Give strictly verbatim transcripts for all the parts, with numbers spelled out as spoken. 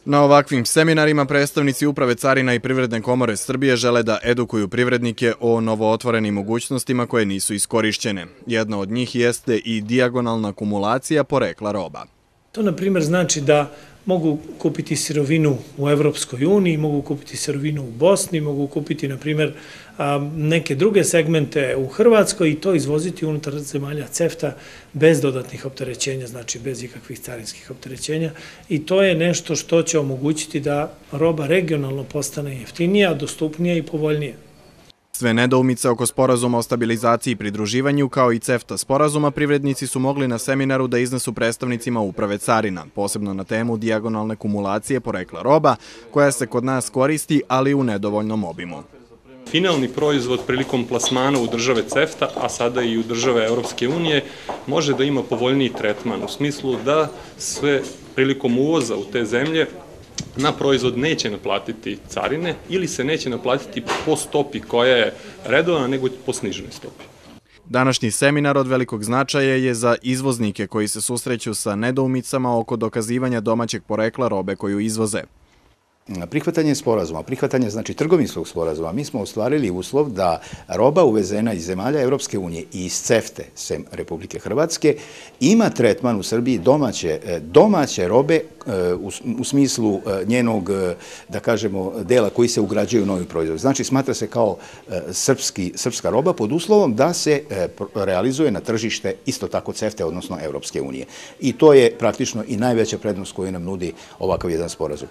Na ovakvim seminarima predstavnici Uprave carina i Privredne komore Srbije žele da edukuju privrednike o novootvorenim mogućnostima koje nisu iskorišćene. Jedna od njih jeste i dijagonalna kumulacija porekla roba. To, na primjer, znači da mogu kupiti sirovinu u Evropskoj uniji, mogu kupiti sirovinu u Bosni, mogu kupiti, na primjer, neke druge segmente u Hrvatskoj i to izvoziti unutar zemalja CEFTA bez dodatnih opterećenja, znači bez ikakvih carinskih opterećenja. I to je nešto što će omogućiti da roba regionalno postane jeftinija, dostupnija i povoljnija. Sve nedoumice oko sporazuma o stabilizaciji i pridruživanju, kao i CEFTA sporazuma, privrednici su mogli na seminaru da iznesu predstavnicima Uprave carina, posebno na temu dijagonalne kumulacije porekla roba, koja se kod nas koristi, ali u nedovoljnom obimu. Finalni proizvod prilikom plasmana u države CEFTA, a sada i u države Europske unije, može da ima povoljniji tretman, u smislu da sve prilikom uvoza u te zemlje na proizvod neće naplatiti carine ili se neće naplatiti po stopi koja je redovna, nego po sniženoj stopi. Današnji seminar od velikog značaja je za izvoznike koji se susreću sa nedoumicama oko dokazivanja domaćeg porekla robe koju izvoze. Prihvatanje sporazuma, prihvatanje znači trgovinskog sporazuma, mi smo ostvarili uslov da roba uvezena iz zemalja Evropske unije i iz CEFTA, sem Republike Hrvatske, ima tretman u Srbiji domaće, domaće robe u smislu njenog, da kažemo, dela koji se ugrađuju u novi proizvod. Znači, smatra se kao srpski, srpska roba pod uslovom da se realizuje na tržište isto tako CEFTA, odnosno Evropske unije. I to je praktično i najveća prednost koju nam nudi ovakav jedan sporazum.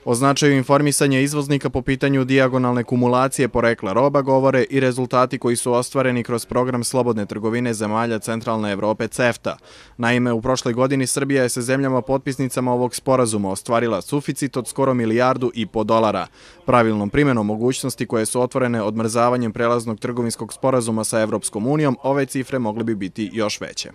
O značaju informisanja izvoznika po pitanju dijagonalne kumulacije porekla roba govore i rezultati koji su ostvareni kroz program slobodne trgovine zemalja Centralne Evrope CEFTA. Naime, u prošloj godini Srbija je sa zemljama potpisnicama ovog sporazuma ostvarila suficit od skoro milijardu i po dolara. Pravilnom primjenom mogućnosti koje su otvorene odmrzavanjem prelaznog trgovinskog sporazuma sa Evropskom unijom, ove cifre mogle bi biti još veće.